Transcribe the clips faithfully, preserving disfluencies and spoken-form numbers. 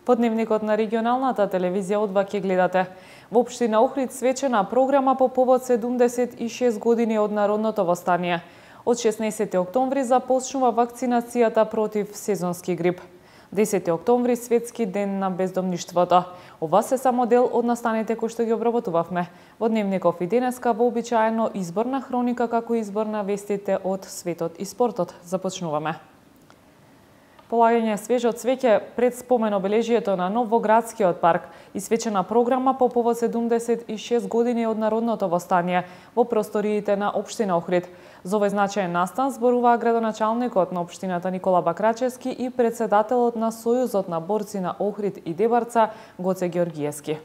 По дневникот на регионалната телевизија одва ќе гледате. Во општина Охрид свечена програма по повод седумдесет и шест години од народното востание. Од шеснаесети октомври започнува вакцинацијата против сезонски грип. десети октомври светски ден на бездомништвото. Ова се само дел од настаните кои што ги обработувавме. Во дневников и денеска вообичаено изборна хроника како избор на вестите од светот и спортот. Започнуваме. Полагање свежо цвеќе пред спомен обележието на Новоградскиот парк и свечена програма по повод седумдесет и шест години од народното востание во просториите на општина Охрид. За овој значаен настан зборуваа градоначалникот на општината Никола Бакрачевски и председателот на Сојузот на борци на Охрид и Дебарца Гоце Георгиевски.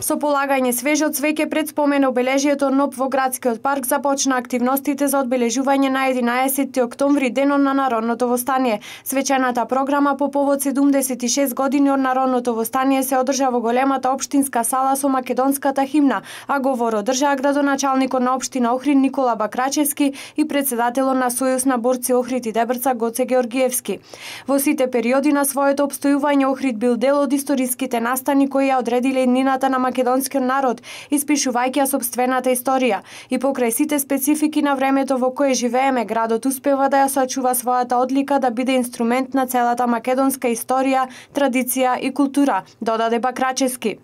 Со полагање свежо цвеќе пред спомен обележието Новоградскиот парк започна активностите за одбележување на единаесети октомври, денот на народното востание. Свечената програма по повод седумдесет и шест години од народното востание се одржа во големата општинска сала со македонската химна, а говор одржаа градоначалникот на општина Охрид Никола Бакрачевски и председателот на Сојуз на борци Охрид и Дебарца Гоце Георгиевски. Во сите периоди на своето опстојување Охрид бил дел од историските настани кои ја одредиле иднината на македонскиот народ, испишувајќи ја сопствената историја. И покрај сите специфики на времето во кое живееме, градот успева да ја сочува својата одлика да биде инструмент на целата македонска историја, традиција и култура, додаде Бакрачевски.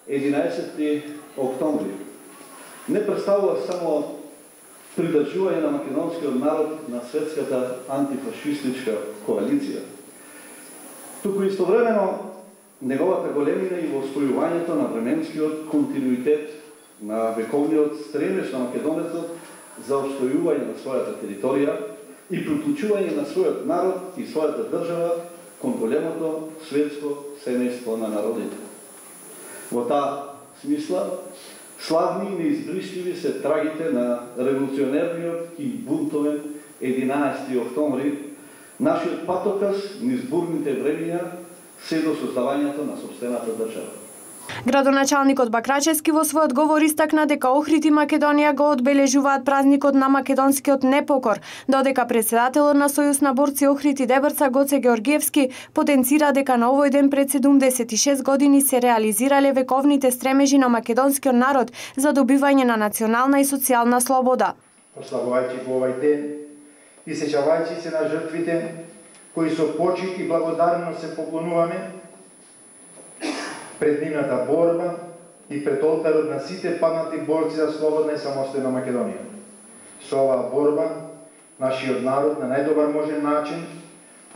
единаесети октомври не представува само придржување на македонскиот народ на светската антифашистичка коалиција, туку истовремено неговата големина и востојувањето на временскиот континуитет на вековниот стремеж на македонецот за обстојување на својата територија и приклучување на својот народ и својата држава кон големото светско семејство на народите. Во таа смисла, славни и неизбришливи се трагите на револуционерниот и бунтовен единаесети октомври, нашиот патоказ низ бурните времиња се до создавањето на сопствената држава. Градоначалникот Бакрачевски во својот говор истакна дека Охрид и Македонија го одбележуваат празникот на македонскиот непокор, додека председателот на Сојуз на борци Охрид и Дебарца Гоце Георгиевски потенцира дека на овој ден пред седумдесет и шест години се реализирале вековните стремежи на македонскиот народ за добивање на национална и социјална слобода. Прославувајќи го овој ден и сеќавајќи се на жртвите кои со почит и благодарност се поклонуваме пред нивната борба и пред олтарот на сите паднати борци за слободна и самостојна Македонија. Со оваа борба, нашиот народ на најдобар можен начин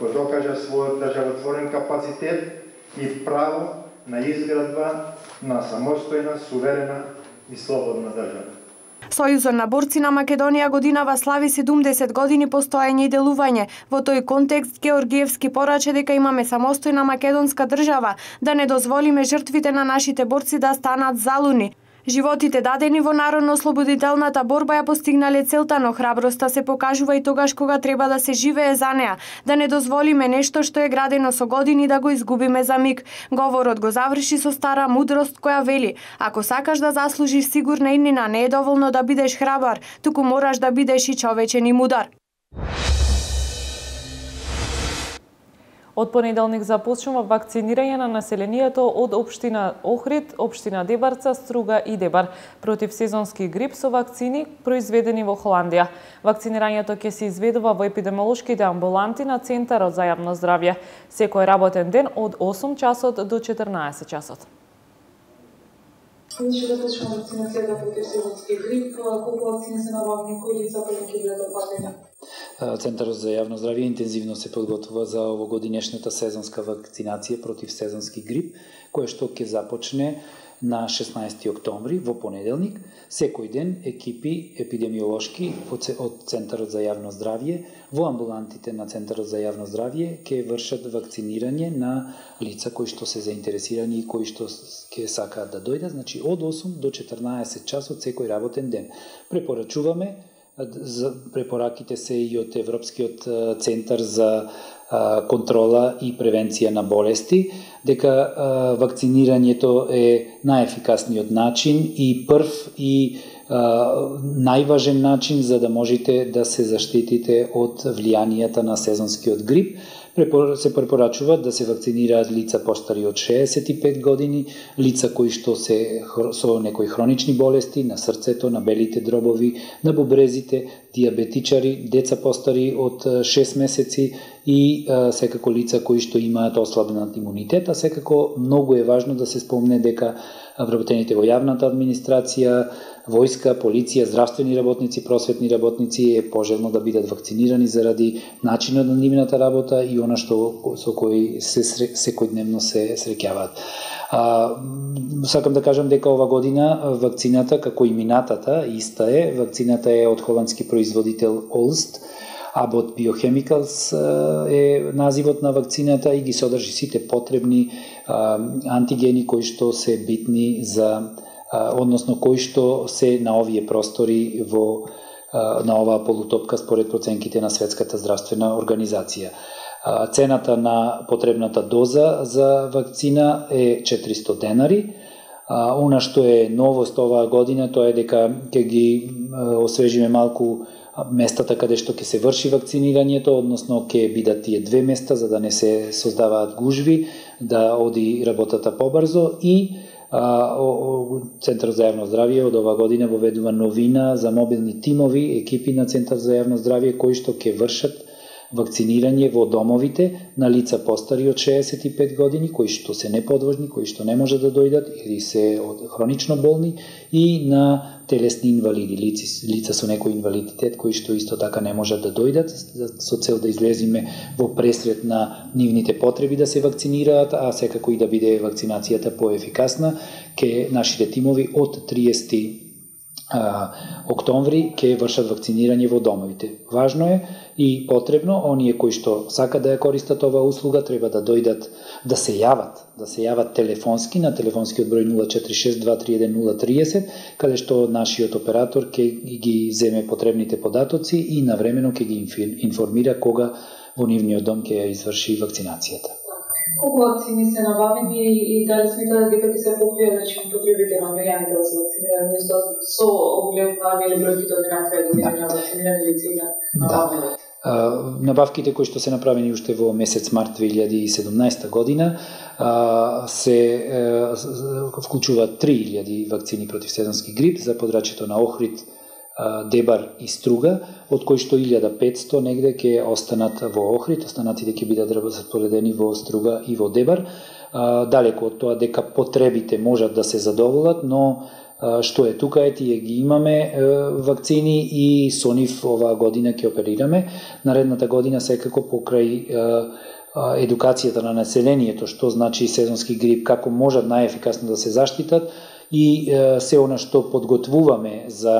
го докажа својот државотворен капацитет и право на изградба на самостојна, суверена и слободна држава. Сојузот на борци на Македонија годинава слави седумдесет години постоење и делување. Во тој контекст Георгиевски порача дека имаме самостојна македонска држава, да не дозволиме жртвите на нашите борци да станат залуни. Животите дадени во народно-ослободителната борба ја постигнале целта, но храброста се покажува и тогаш кога треба да се живее за неа, да не дозволиме нешто што е градено со години да го изгубиме за миг. Говорот го заврши со стара мудрост која вели: ако сакаш да заслужиш сигурна иднина, не е доволно да бидеш храбар, туку мораш да бидеш и човечен и мудар. Од понеделник започнува вакцинирање на населението од општина Охрид, општина Дебарца, Струга и Дебар против сезонски грип со вакцини произведени во Холандија. Вакцинирањето ќе се изведува во епидемиолошките амбуланти на Центарот за јавно здравје секој работен ден од осум часот до четрнаесет часот. Значи да почнува вакцинацијата против сезонски грип, колку вакцини се набавени, кои лица ќе бидат опатени? Центарот за јавно здравје интензивно се подготвува за овогодинешната сезонска вакцинација против сезонски грип, која што ќе започне на шеснаесети октомври во понеделник. Секој ден екипи епидемиолошки од Центарот за јавно здравје во амбулантите на Центарот за јавно здравје ќе вршат вакцинирање на лица кои што се заинтересирани и кои што ќе сакаат да дојдат, значи од осум до четрнаесет часот секој работен ден. Препорачуваме, препораките се и од Европскиот центар за контрола и превенција на болести, дека вакцинирањето е најефикасниот начин и прв и најважен начин за да можете да се заштитите од влијанијата на сезонскиот грип. Се препорачува да се вакцинираат лица постари од шеесет и пет години, лица кои што се со некои хронични болести на срцето, на белите дробови, на бубрезите, диабетичари, деца постари од шест месеци и а, секако лица кои што имаат ослабнат имунитет, а секако многу е важно да се спомне дека вработените во јавната администрација, војска, полиција, здравствени работници, просветни работници е пожелно да бидат вакцинирани заради начинот на нивната работа и она што со кои се секојдневно се среќаваат. А, сакам да кажам дека ова година вакцината, како и минатата, иста е. Вакцината е од холандски производител Олст. Abbott Biochemicals е називот на вакцината и ги содржи сите потребни а, антигени кои што се битни за, а, односно кои што се на овие простори во а, на оваа полутопка според проценките на Светската здравствена организација. А, цената на потребната доза за вакцина е четиристо денари. А, она што е новост оваа година тоа е дека ќе ги а, освежиме малку местата каде што ќе се врши вакцинирањето, односно ќе бидат тие две места за да не се создаваат гужви, да оди работата побрзо и а, о, о, Центар за јавно здравје од ова година воведува новина за мобилни тимови, екипи на Центар за јавно здравје кои што ќе вршат вакцинирање во домовите на лица постари од шеесет и пет години, кои што се неподвижни, кои што не може да дојдат или се од хронично болни и на телесни инвалиди, лица, лица со некој инвалидитет кои што исто така не можат да дојдат со цел да излезиме во пресред на нивните потреби да се вакцинираат, а секако и да биде вакцинацијата поефикасна. Ке нашите тимови од триесети октомври ќе вршат вакцинирање во домовите. Важно е и потребно оние кои што сакат да ја користат оваа услуга треба да дојдат, да се јават, да се јават телефонски на телефонскиот број нула четири шест два три еден нула триесет, каде што нашиот оператор ќе ги земе потребните податоци и навремено ќе ги информира кога во нивниот дом ќе ја изврши вакцинацијата. Колку вакцини се набавени и дали сметате дека ќе се покријат значи потребите на граѓаните да се вакцинираат со оглед на нели бројките од една година на вакцинирани лица и на набавени? Набавките кои што се направени уште во месец март две илјади и седумнаесета година се вклучуваат три илјади вакцини против сезонски грип за подрачјето на Охрид, Дебар и Струга, од кои што илјада и петсто негде ќе останат во Охрид, останатите ќе бидат распоредени во Струга и во Дебар. Далеко од тоа дека потребите можат да се задоволат, но што е тука е, тие ги имаме вакцини и со нив оваа година ќе оперираме. Наредната година секако покрај едукацијата на населението, што значи сезонски грип, како можат најефикасно да се заштитат, и е, се она што подготвуваме за,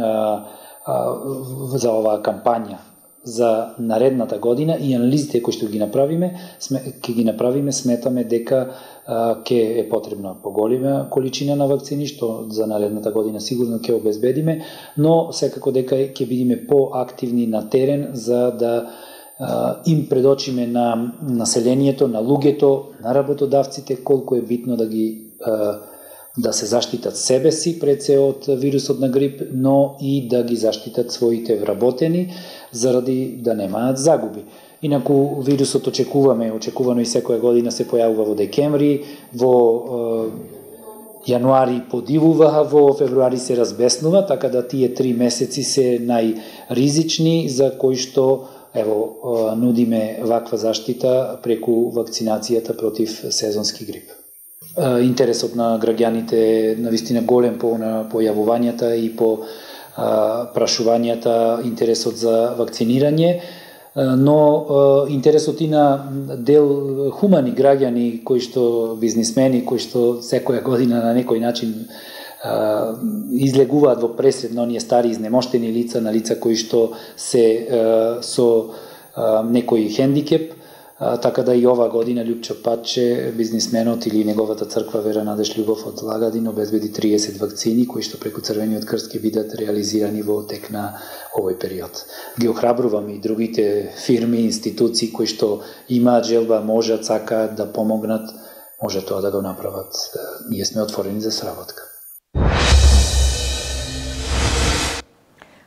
а, а, за оваа кампања за наредната година и анализите кои што ги направиме, ќе ги направиме, сметаме дека ќе е потребна поголема количина на вакцини, што за наредната година сигурно ќе обезбедиме, но секако дека ќе бидеме поактивни на терен за да а, им предочиме на населението, на луѓето, на работодавците колку е битно да ги а, да се заштитат себе си пред се од вирусот на грип, но и да ги заштитат своите вработени заради да немаат загуби. Инаку вирусот очекуваме, очекувано и секоја година се појавува во декември, во е, јануари подивува, во февруари се разбеснува, така да тие три месеци се најризични за кои што ево нудиме ваква заштита преку вакцинацијата против сезонски грип. Интересот на граѓаните е навистина голем по на појавувањата и по а, прашувањата, интересот за вакцинирање, но интересот и на дел хумани граѓани кои што бизнисмени кои што секоја година на некој начин а, излегуваат во пресред на оние стари изнемоштени лица, на лица кои што се а, со а, некој хендикеп. А, така да и ова година Љупчо Патче, бизнисменот или неговата црква Вера Надеж Љубов од Лагадин обезбеди триесет вакцини кои што преку Црвениот крст ќе бидат реализирани во тек на овој период. Ги охрабрувам и другите фирми, институции кои што имаат желба, можат, сакаат да помогнат, може тоа да го направат. Ние сме отворени за сработка.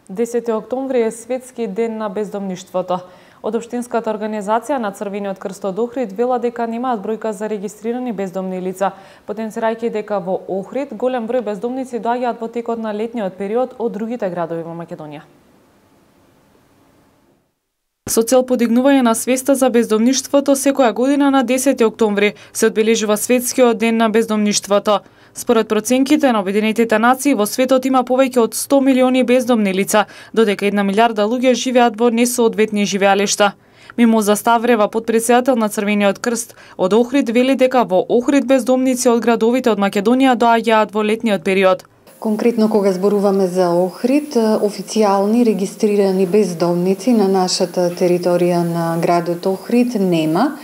десети октомври е светски ден на бездомништвото. Од Општинската организација на Црвениот крст од Охрид вела дека немаат бројка за регистрирани бездомни лица, потенцирајќи дека во Охрид голем број бездомници доаѓаат во текот на летниот период од другите градови во Македонија. Со цел подигнување на свеста за бездомништвото, секоја година на десети октомври се одбележува светскиот ден на бездомништвото. Според проценките на Обединетите нации, во светот има повеќе од сто милиони бездомни лица, додека една милиарда луѓе живеат во несоодветни живеалишта. Мимоза Ставрева, подпредседател на Црвениот крст од Охрид, вели дека во Охрид бездомници од градовите од Македонија доаѓаат во летниот период. Конкретно кога зборуваме за Охрид, официјални регистрирани бездомници на нашата територија на градот Охрид нема.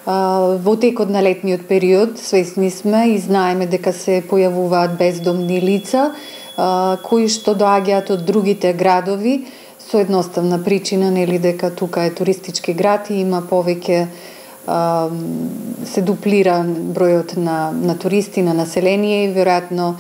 Во текот на летниот период свесни сме и знаеме дека се појавуваат бездомни лица кои што доаѓаат од другите градови со едноставна причина, нели, дека тука е туристички град и има повеќе, се дуплира бројот на, на туристи, на население и веројатно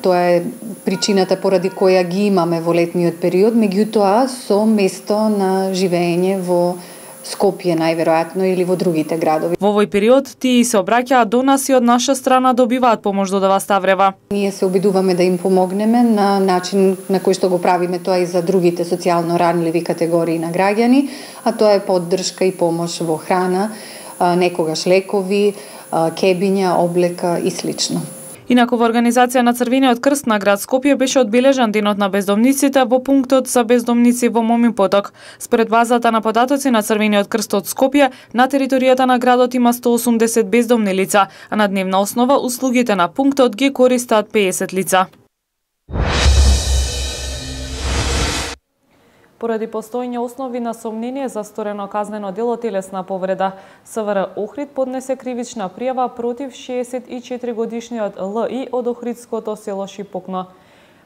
тоа е причината поради која ги имаме во летниот период, меѓутоа со место на живење во Скопје најверојатно или во другите градови. Во овој период тие се обраќаат до нас и од наша страна добиваат помош, додава Ставрева. Ние се обидуваме да им помогнеме на начин на кој што го правиме тоа и за другите социјално ранливи категории на граѓани, а тоа е поддршка и помош во храна, некогаш лекови, кебиња, облека и слично. Инаку во организација на Црвениот крст на град Скопје беше одбележан денот на бездомниците во пунктот за бездомници во Момин поток. Според базата на податоци на Црвениот крст од Скопје, на територијата на градот има сто осумдесет бездомни лица, а на дневна основа услугите на пунктот ги користат пеесет лица. Поради постојање основи на сомнение за сторено казнено дело телесна повреда, СВР Охрид поднесе кривична пријава против шеесет и четири годишниот Л И од охридското село Шипокно.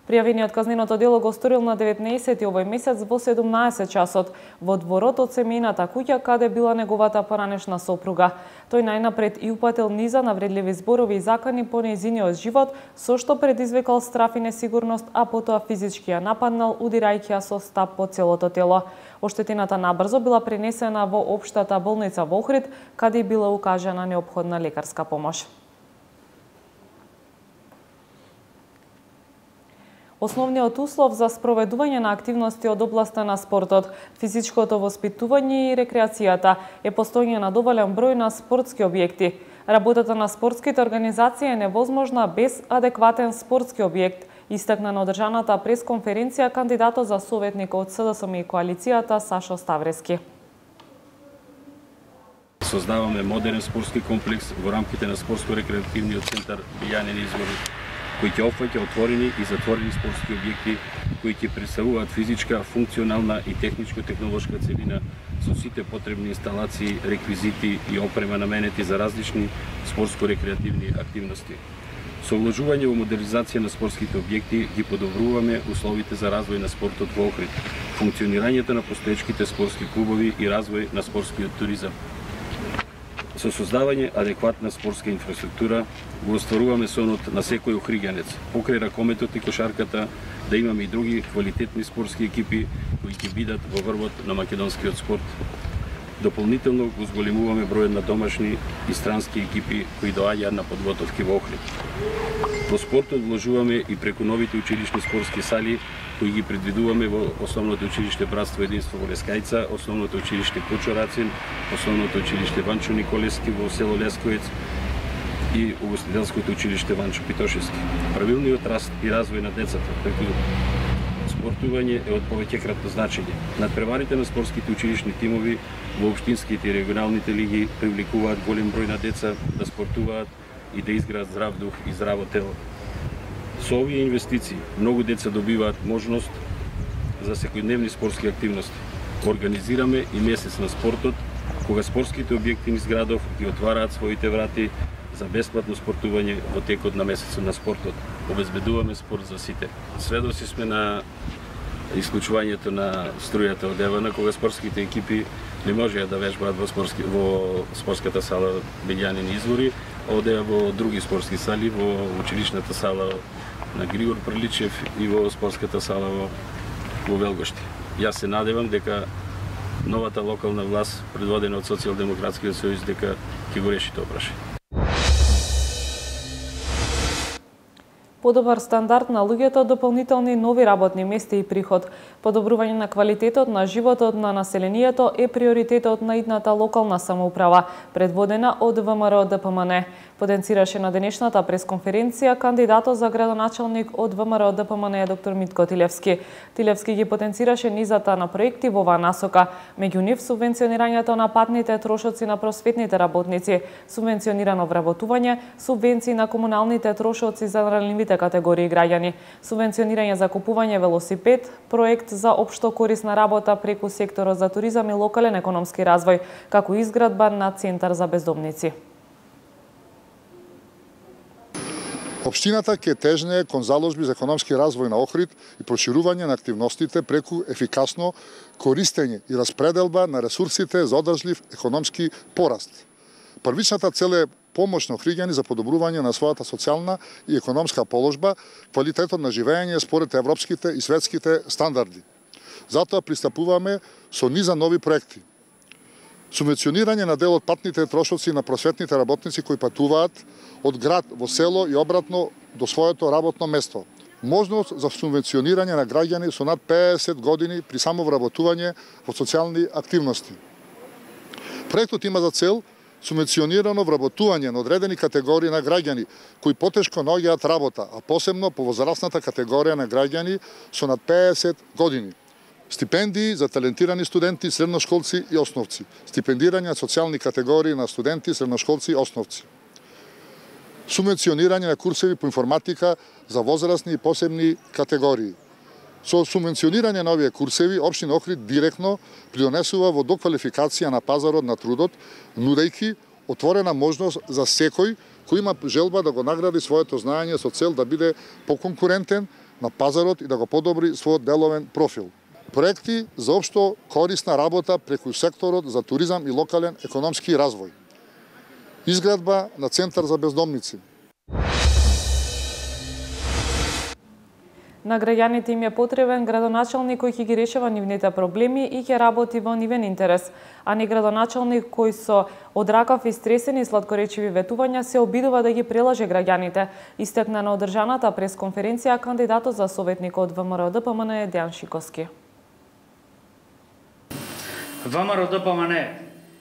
Пријавениот казненото дело го сторил на деветнаесети овој месец во седумнаесет часот во дворот од семејната куќа каде била неговата поранешна сопруга. Тој најнапред и упатил низа навредливи зборови и закани по нејзиниот живот, со што предизвикал страф и несигурност, а потоа физички ја нападнал, удирајќи ја со стап по целото тело. Оштетената набрзо била пренесена во општата болница во Охрид, каде била укажана неопходна лекарска помош. Основниот услов за спроведување на активности од областа на спортот, физичкото воспитување и рекреацијата е постојање на доволен број на спортски објекти. Работата на спортските организации е невозможна без адекватен спортски објект, истакна на одржаната пресконференција кандидатот за советник од С Д С М и коалицијата Сашо Ставрески. Создаваме модерен спортски комплекс во рамките на спортско-рекреативниот центар Билјанин Извор, кои ќе опфаќа отворени и затворени спортски објекти, кои ќе представуваат физичка, функционална и техничко-технолошка целина со сите потребни инсталации, реквизити и опрема наменети за различни спортско-рекреативни активности. Со вложување во модернизација на спортските објекти ги подобруваме условите за развој на спортот во Охрид, функционирањето на постоечките спортски клубови и развој на спортскиот туризам. Со создавање адекватна спортска инфраструктура го остваруваме сонот на секој охриѓанец, покрај ракометот и кошарката, да имаме и други квалитетни спортски екипи кои ќе бидат во врвот на македонскиот спорт. Дополнително го зголемуваме бројот на домашни и странски екипи кои доаѓаат на подготовки во Охрид. Во спортот вложуваме и преку новите училишни спортски сали кои ги предвидуваме во Основното училиште Братство единство во Лескајца, Основното училиште Кучо Рацин, Основното училиште Ванчо Николевски во село Лесковец и Угостителското училиште Ванчо Питошевски. Правилниот раст и развој на децата преку спортување е од повеќекратно значење. Надпреварите на спортските училишни тимови во општинските и регионалните лиги привлекуваат голем број на деца да спортуваат и да изградат здрав дух и здраво тело. Со овие инвестиции многу деца добиваат можност за секојдневни спортски активности. Организираме и месец на спортот, кога спортските објекти низ градов ги отвараат своите врати за бесплатно спортување во текот на месецот на спортот. Обезбедуваме спорт за сите. Сведоци сме на исклучувањето на струјата од Евана, кога спортските екипи не можеа да вежбаат во, спортски, во спортската сала Билјанин Извори, одеа во други спортски сали, во училишната сала на Григор Приличев и во спортската сала во во Велгошти. Јас се надевам дека новата локална власт, предводена од Социјалдемократскиот сојуз, дека ќе го реши тоа прашање. Подобар стандард на луѓето, дополнителни нови работни места и приход. Подобрување на квалитетот на животот на населението е приоритетот на идната локална самоуправа, предводена од ВМРО Д П М Н. Потенцираше на денешната пресконференција кандидатот за градоначалник од ВМРО Д П М Н доктор Митко Тилевски. Тилевски ги потенцираше низата на проекти во оваа насока, меѓу нив субвенционирањето на патните трошоци на просветните работници, субвенционирано вработување, субвенции на комуналните трошоци за ранливите категории граѓани, субвенционирање за купување велосипед, проект за општо корисна работа преку секторот за туризам и локален економски развој, како изградба на центар за бездомници. Општината ќе тежне кон заложби за економски развој на Охрид и проширување на активностите преку ефикасно користење и распределба на ресурсите за одржлив економски пораст. Првичната цел е помош на охриѓани за подобрување на својата социјална и економска положба, квалитетот на живење според европските и светските стандарди. Затоа пристапуваме со низа нови проекти. Субвенционирање на дел од патните трошоци на просветните работници кои патуваат од град во село и обратно до своето работно место. Можност за субвенционирање на граѓани со над педесет години при само вработување во социјални активности. Проектот има за цел субвенционирано вработување на одредени категории на граѓани кои потешко наоѓаат работа, а посебно по возрастната категорија на граѓани со над педесет години. Стипендии за талентирани студенти, средношколци и основци. Стипендирање на социјални категории на студенти, средношколци и основци. Субвенционирање на курсеви по информатика за возрастни и посебни категории. Со субвенционирање на овие курсеви, општина Охрид директно придонесува во доквалификација на пазарот на трудот, нудејќи отворена можност за секој кој има желба да го награди своето знаење со цел да биде поконкурентен на пазарот и да го подобри својот деловен профил. Проекти за општо корисна работа преку секторот за туризам и локален економски развој. Изградба на центар за бездомници. На граѓаните им е потребен градоначалник кој ќе ги решава нивните проблеми и ќе работи во нивен интерес, а не градоначалник кој со одракав и стресени сладкоречиви ветувања се обидува да ги прелаже граѓаните, истакна на одржаната пресконференција кандидатот за советник од ВМРО Д П М Н Дејан Шиковски. ВМРО Д П М Н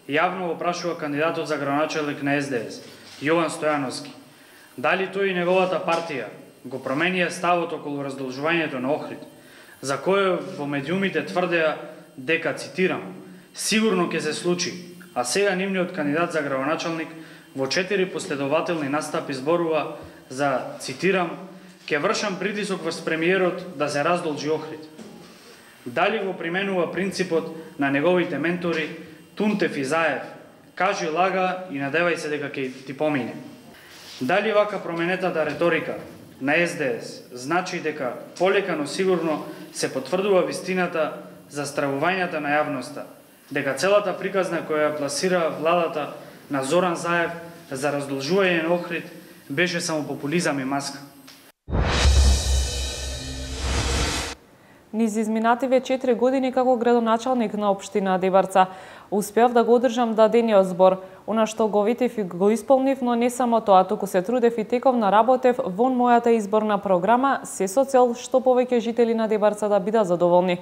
јавно го прашува кандидатот за градоначалник на С Д С, Јован Стојановски, дали тој и неговата партија го променија ставот околу раздолжувањето на Охрид, за кој во медиумите тврдеа дека, цитирам, сигурно ќе се случи, а сега нивниот кандидат за градоначалник во четири последователни настапи зборува за, цитирам, ќе вршам притисок врз премиерот да се раздолжи Охрид. Дали го применува принципот на неговите ментори Тунтев и Заев, кажи лага и надевај се дека ќе ти помине. Дали вака променетата реторика на С Д С значи дека полека но сигурно се потврдува вистината за стравувањата на јавноста, дека целата приказна која ја пласира владата на Зоран Заев за раздолжување на Охрид беше само популизам и маска. Низ изминативе четири години како градоначалник на општина Дебарца успеав да го одржам дадениот збор. Она што го ветив и го исполнив, но не само тоа, туку се трудев и тековна работев вон мојата изборна програма, се со цел што повеќе жители на Дебарца да бидат задоволни.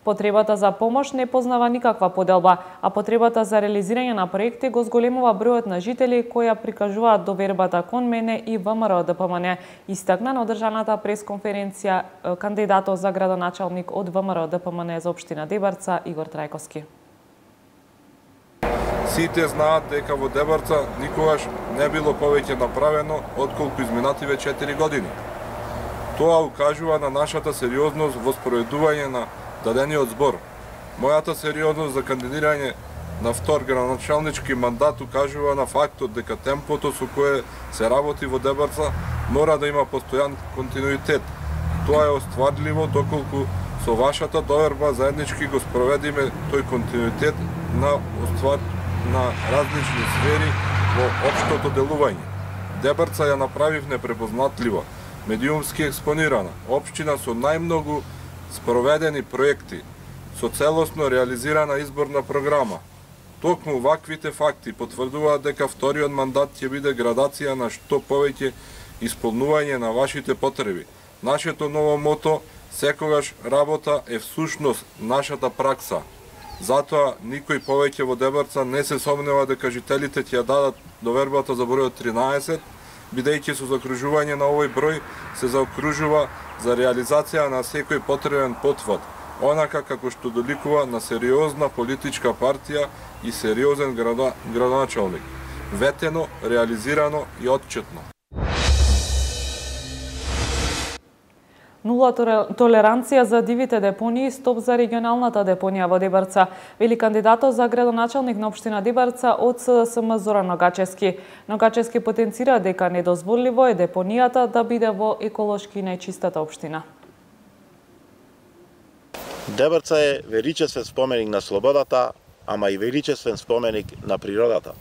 Потребата за помош не познава никаква поделба, а потребата за реализирање на проекти го зголемува бројот на жители кои прикажуваат довербата кон мене и ВМРО Д П М Н, истакна на одржаната пресконференција кандидатот за градоначалник од ВМРО Д П М Н за општина Дебарца Игор Трајковски. Сите знаат дека во Дебарца никогаш не било повеќе направено отколку изминативе четири години. Тоа укажува на нашата сериозност во спроведување на дадениот збор. Мојата сериозност за кандидирање на втор градоначалнички мандат укажува на фактот дека темпото со кое се работи во Дебарца мора да има постојан континуитет. Тоа е остварливо доколку со вашата доверба заеднички го спроведиме тој континуитет на оствар на различни сфери во општото делување. Дебарца ја направив непрепознатлива, медиумски експонирана, општина со најмногу спроведени проекти со целосно реализирана изборна програма. Токму ваквите факти потврдуваат дека вториот мандат ќе биде градација на што повеќе исполнување на вашите потреби. Нашето ново мото секогаш работа е всушност нашата пракса. Затоа никој повеќе во Дебарца не се сомнева дека жителите ќе ја дадат довербата за бројот тринаесет, бидејќи со закружување на овој број се заокружува за реализација на секој потребен потвод, онака како што доликува на сериозна политичка партија и сериозен градоначалник, ветено, реализирано и отчетно. Нула толеранција за дивите депонии, стоп за регионалната депонија во Дебарца, вели кандидатот за градоначалник на општина Дебарца од СДСМ Зоран Ногачевски. Ногачевски потенцира дека недозволиво е депонијата да биде во еколошки најчистата општина. Дебарца е величествен споменик на слободата, ама и величествен споменик на природата.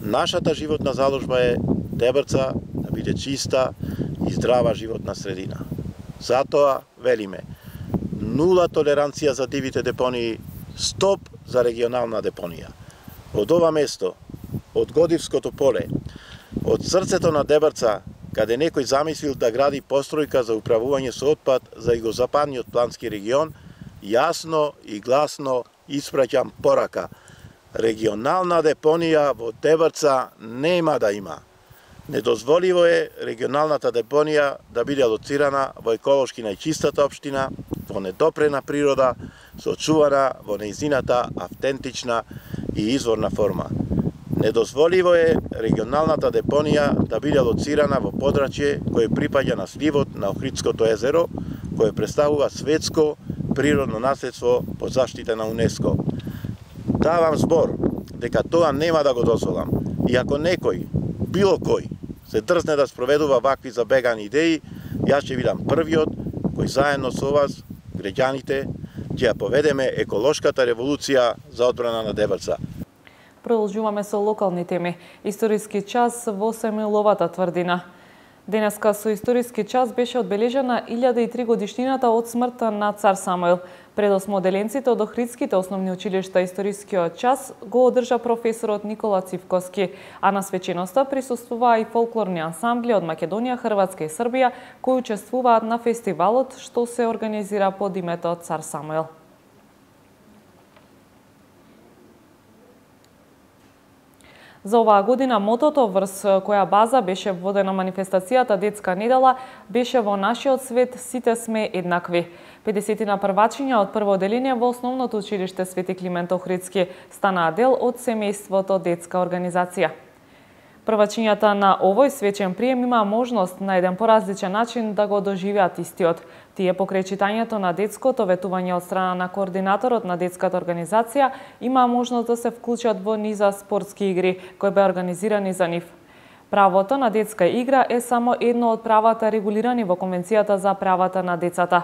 Нашата животна заложба е Дебарца да биде чиста и здрава животна средина. Затоа велиме нула толеранција за дивите депонии, стоп за регионална депонија. Од ова место, од Годивското поле, од срцето на Дебарца, каде некој замислил да гради постројка за управување со отпад за југозападниот плански регион, јасно и гласно испраќам порака. Регионална депонија во Дебарца нема да има. Недозволиво е регионалната депонија да биде алоцирана во еколошки најчистата општина, во недопрена природа, сочувана во нејзината автентична и изворна форма. Недозволиво е регионалната депонија да биде алоцирана во подрачје кое припаѓа на сливот на Охридското езеро, кое представува светско природно наследство под заштита на УНЕСКО. Давам збор дека тоа нема да го дозволам. И ако некој, било кој, се дрзне да спроведува вакви забегани идеи, јас ќе бидам првиот кој заедно со вас, граѓаните, ќе ја поведеме еколошката револуција за одбрана на Дебарца. Продолжуваме со локални теми. Историски час во Семиловата тврдина. Денеска со историски час беше одбележена илјада и три годишнината од смртта на цар Самуил. Предосмоделенците од Охридските основни училишта историскиот час го одржа професорот Никола Цивковски, а на свеченоста присуствуваа и фолклорни ансамбли од Македонија, Хрватска и Србија, кои учествуваат на фестивалот што се организира под името Цар Самуил. За оваа година мотото врз која база беше водена манифестацијата Детска недела беше во нашиот свет сите сме еднакви. педесетина првачиња од прво одделение во основното училиште Свети Климент Охридски станаа дел од семејството Детска организација. Првачињата на овој свечен прием имаа можност на еден поразличен начин да го доживеат истиот. Тие покрај читањето на детското ветување од страна на координаторот на детската организација имаа можност да се вклучат во низа спортски игри кои беа организирани за нив. Правото на детска игра е само едно од правата регулирани во Конвенцијата за правата на децата.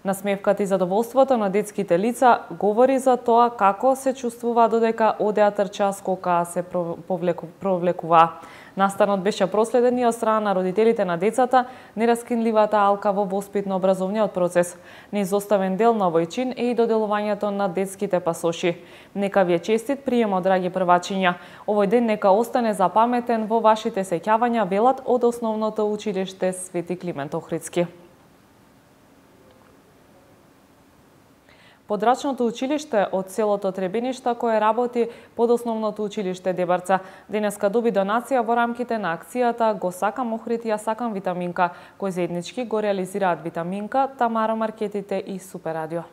Насмевката и задоволството на детските лица говори за тоа како се чувствува додека одеа трча, скока се провлекува. Настанот беше проследен и од страна на родителите на децата, нераскинливата алка во воспитно-образовниот процес. Неизоставен дел на овој чин е и доделувањето на детските пасоши. Нека ви е честит приемот, драги првачиња. Овој ден нека остане запаметен во вашите сеќавања, велат од основното училиште Свети Климент Охридски. Подрачното училиште од селото Требеништа, кое работи под основното училиште Дебарца, денеска доби донација во рамките на акцијата Го сакам Охрид, ја сакам витаминка, кој заеднички го реализираат Витаминка, Тамара Маркетите и Супер Радио.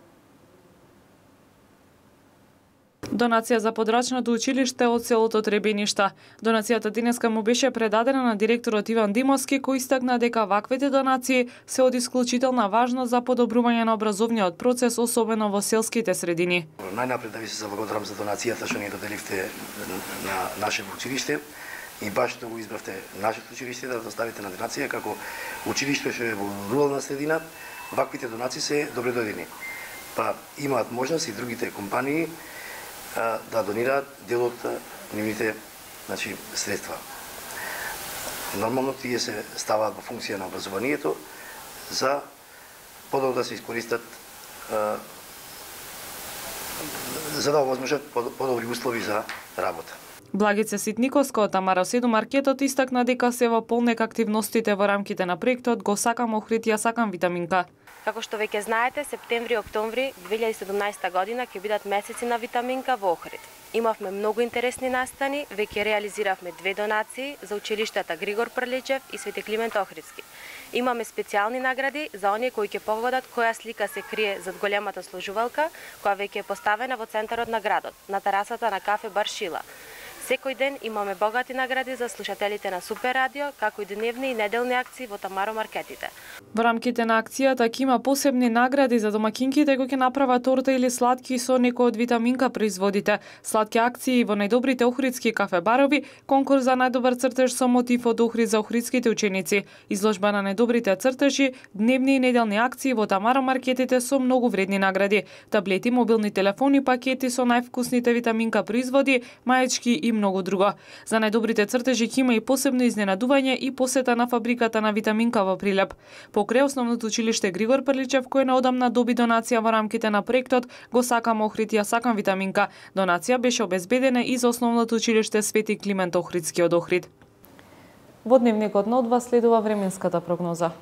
Донација за подрачното училиште од селото Требеништа. Донацијата денеска му беше предадена на директорот Иван Димовски, кој истакна дека ваквите донации се од исклучителна важност за подобрување на образовниот процес, особено во селските средини. Најнапред да ви се заблагодарам за донацијата што ни доделивте на нашето училиште и баш што го избравте нашето училиште да доставите на донација како училиште што е во рурална средина. Ваквите донации се добре дојдени. Па имаат можност и другите компании да донираат дел од нивните, значи, средства. Нормално тие се ставаат во функција на образованието за подобро да се искористат за да овозможат подобри услови за работа. Благица Ситниковска од Тамара седум маркетот истакна дека се во полнек активностите во рамките на проектот Го сакам Охрид, ја сакам витаминка. Како што веќе знаете, септември и октомври две илјади и седумнаесета година ќе бидат месеци на витаминка во Охрид. Имавме многу интересни настани, веќе реализиравме две донации за училиштата Григор Прличев и Свети Климент Охридски. Имаме специјални награди за оние кои ќе погодат која слика се крие зад големата сложувалка, која веќе е поставена во центарот на градот, на терасата на кафе Бар Шила. Секој ден имаме богати награди за слушателите на Супер Радио, како и дневни и неделни акции во Тамаро маркетите. Во рамките на акцијата ќе има посебни награди за домакинките кои ќе направат торта или сладки со некој од витаминка производите, сладки акции во најдобрите охридски кафе барови, конкурс за најдобар цртеж со мотив од Охрид за охридските ученици, изложба на најдобрите цртежи, дневни и неделни акции во Тамаро маркетите со многу вредни награди, таблети, мобилни телефони, пакети со највкусните витаминка производи, маечки и многу друго. За најдобрите цртежи ќе има и посебно изненадување и посета на фабриката на витаминка во Прилеп. Покрај основното училиште Григор Прличев, кој неодамна доби донација во рамките на проектот Го сакам Охрид, ја сакам витаминка. Донација беше обезбедена и за основното училиште Свети Климент Охридски од Охрид. Во дневникот на одва следува временската прогноза.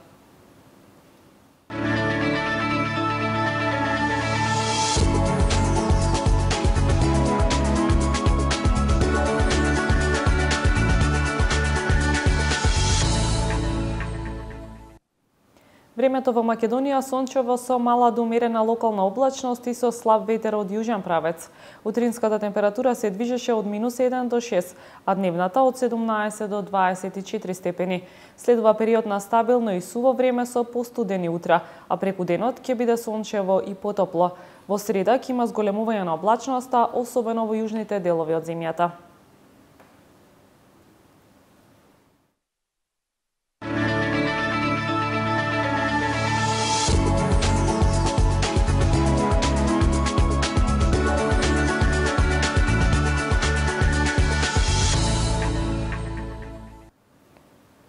Времето во Македонија сончево со мала до умерена локална облачност и со слаб ветер од јужен правец. Утринската температура се движеше од минус еден до шест, а дневната од седумнаесет до дваесет и четири степени. Следува период на стабилно и суво време со постудени утра, а преку денот ќе биде сончево и потопло. Во среда ќе има зголемување на облачноста, особено во јужните делови од земјата.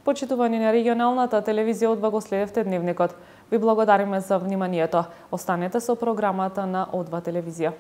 Почитувани на регионалната телевизија Одва го следевте дневникот. Ви благодариме за вниманието. Останете со програмата на Одва телевизија.